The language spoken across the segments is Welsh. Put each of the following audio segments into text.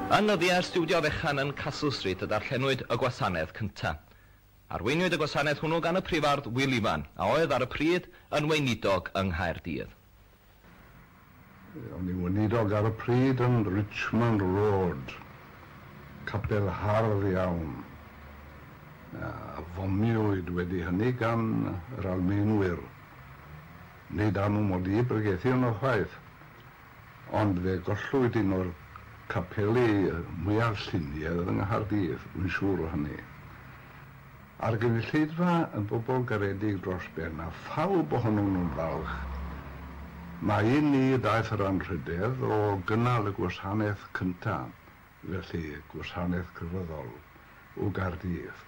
Yn nyddiau'r stiwdio fechan yn Castle Street y darllenwyd y gwasanaeth cyntaf. Arweiniwyd y gwasanaeth hwnnw gan y prifardd Wil Ifan, a oedd ar y pryd yn weinidog yng Nghaerdydd. O'n i'n weinidog ar y pryd yn Richmond Road, capel hardd iawn, a fomiwyd wedi hynny gan yr Almaenwyr. Nid am mod i bregethu yno chwaith, ond fe gollwyd un o'r capeli mwyaf lluniaidd yng Nghaerdydd, wy'n siŵr o hynny. A'r gynulleidfa yn bobl garedig dros ben, a phawb ohonyn nhw'n falch. Mae i ni ddaeth yr anrhydedd o gynnal y gwasanaeth cyntaf, felly gwasanaeth crefyddol, o Gaerdydd.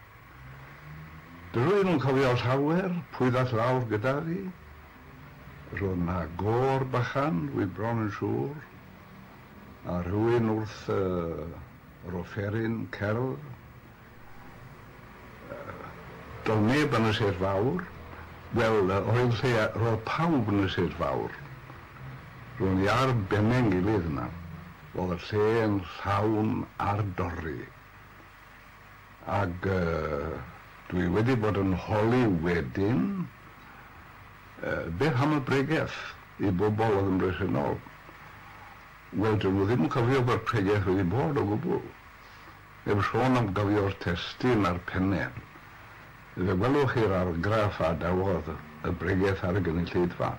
Dydw i ddim yn cofio llawer pwy ddaeth lawr gyda fi. Roedd 'na gôr bychan, dwi bron yn siŵr, a rhywun wrth yr offeryn cerdd. Doedd neb yn y sêt fawr. Wel, oedd lle, roedd pawb yn y sêt fawr. Ro'n i ar benne'n gilydd yna. Roedd y lle yn llawn ar dorri. Ag dwi wedi bod yn holi wedyn, beth am y bregeth i bobl oedd yn bresennol? Wel, dyn nhw ddim yn cofio bod pregeth wedi bod o gwbl. Heb sôn am gofio'r testun a'r penne. Fe welwch chi'r argraff a adawodd y bregeth ar y gynulleidfa.